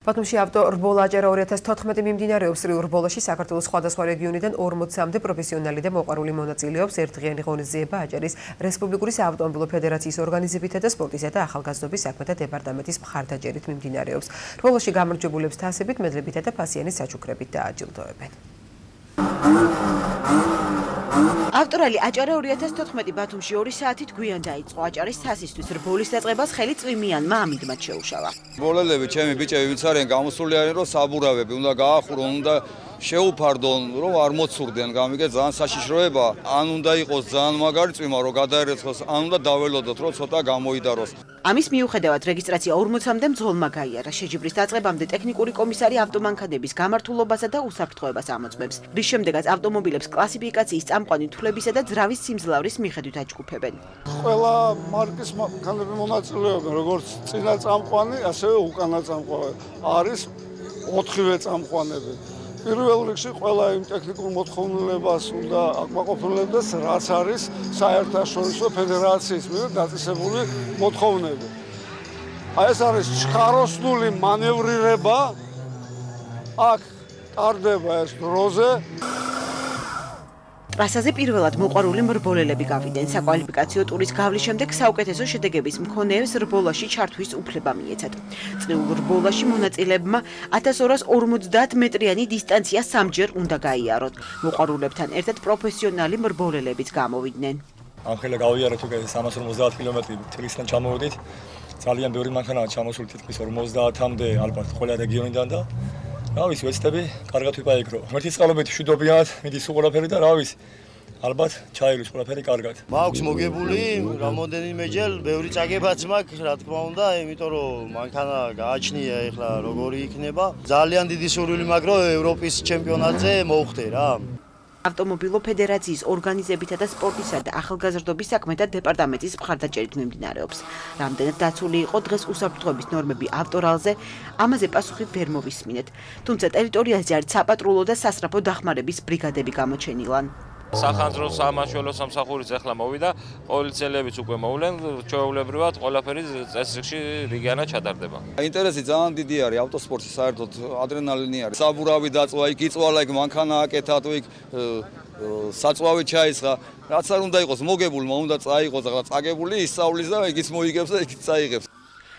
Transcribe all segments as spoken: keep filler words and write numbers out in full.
ბათუმში ავტორბოლა აჭარა ორი ათას თოთხმეტი მიმდინარეობს. რიურ ბოლოში საქართველოს სხვადასხვა რეგიონიდან ორმოცამდე პროფესიონალი და მოყვარული მონაწილეობს ერთდღიანი ღონისძიება აჭარის რესპუბლიკური საავტომობილო ფედერაციის ორგანიზებითა და სპორტისა და ახალგაზრდობის საქმეთა დეპარტამენტის მხარდაჭერით მიმდინარეობს. ბოლოში გამარჯვებულებს თასებით, მედლებითა და ფასიანის საჩუქრებით დააჯილდოებენ. ავტორალი აჭარა ორი ათას თოთხმეტი ბათუმში ორი საათით გვიან დაიწყო. აჭარის თასისთვის რბოლის დაწყებას ხელი წვიმიანმა ამიდმად შეუშალა. ბოლელები, ჩემი ბიჭები ვინც არიან გამოსული არიან, რომ საბურავები უნდა გაახურონ, უნდა შეუფარდონ, რომ არ მოცურდნენ, გამიგე ძალიან საშიშროება. ან უნდა იყოს ძალიან მაგარი წვიმა, რომ გადაერეცხოს, ან უნდა დაველოდოთ, რომ ცოტა გამოიდაროს. ამის მიუხედავად რეგისტრაცია ორმოცამდე მძღოლმა გაიარა. შეჯიბრის დაწყებამდე ტექნიკური კომისარი ავტომანქანების გამართულობასა და უსაფრთხოებას ამოწმებს. რის შემდეგაც ავტომობილებს კლასიფიკაციის წამყვანი თვლებისა და ძრავის სიმძლავრის მიხედვით აჯგუფებენ. ყველა მარკის მანქანები მონაწილეობენ, როგორც წინა წამყვანი, ასევე უკანა წამყვანი. არის ოთხივე წამყვანები. პირველ რიგში ყველა იმ ტექნიკურ მოთხოვნილებას უნდა აკმაყოფილებდეს, რაც არის საერთაშორისო ფედერაციის მიერ დაწესებული მოთხოვნები. აი ეს არის ჩქაროსნული მანევრირება, აქ ტარდება ეს დროზე. ტრასაზე პირველად მოყვარული მრბოლელები გავიდნენ. საკვალიფიკაციო ტურის გავლის შემდეგ საუკეთესო შედეგების მქონეებს რბოლაში ჩართვის უფლება მიეცათ. წრიულ რბოლაში მონაწილეებმა ათას ორას ორმოცდაათ მეტრიანი დისტანცია სამჯერ უნდა გაიაროთ. მოყვარულებთან ერთად პროფესიონალი მრბოლელებიც გამოვიდნენ. ამხელა გავიარეთ უკვე სამას ორმოცდაათ კილომეტრი თბილისიდან ჩამოვედით. ძალიან ბევრი მანქანაა ჩამოსული, თითქმის ორმოცდაათამდე ალბათ ყველა რეგიონიდან და რა ვიცი, ვეცდები კარგად ვიპაიკრო. ღმერთის წყალობით მშვიდობიანად მიდის ყველაფერი და რა ვიცი, ალბათ ჩაივლის ყველაფერი კარგად. მაქვს მოგებული რამოდენიმეჯერ, ბევრი წაგებაც მაქვს, რა თქმა უნდა, იმიტომ რომ მანქანა გააჩნია ეხლა როგორი იქნება. ძალიან დიდი სურვილი მაქვს, რომ ევროპის ჩემპიონატზე მოვხდე რა. ავტომობილო ფედერაციის ორგანიზებითა და სპორტისა და ახალგაზრდობის საქმეთა დეპარტამენტის მხარდაჭერით მიმდინარეობს. რამდენად დაცული იყო დღეს უსაფრთხოების ნორმები ავტორალზე, ამაზე პასუხი ვერ მოვისმინეთ. თუმცა ტერიტორიაზე არის საპატრულო და სასწრაფო დახმარების ბრიგადები გამოჩენილან. სახანძრო სამაშველო სამსახურიც ახლა მოვიდა, პოლიციელებიც უკვე მოვლენ, ჩვეულებრივად ყველაფერი წესრიგში რიგიანად ჩატარდება. ინტერესი ძალიან დიდი არის ავტოსპორტში, საერთოდ ადრენალინი არის. საბურავი დაწვა, იქ იწვალა, იქ მანქანა აკეთა, თუ იქ საწვავი ჩაისხა, რაც არ უნდა იყოს მოგებულმა, უნდა წაიღოს, ახლა წაგებული ისწავლის და იქიც მოიგებს და იქიც წაიღებს.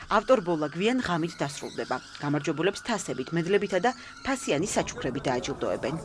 ავტორბოლა გვიან ღამით დასრულდება. გამარჯვებულებს თასებით, მედლებითა და ფასიანის საჩუქრებით დააჯილდოებენ.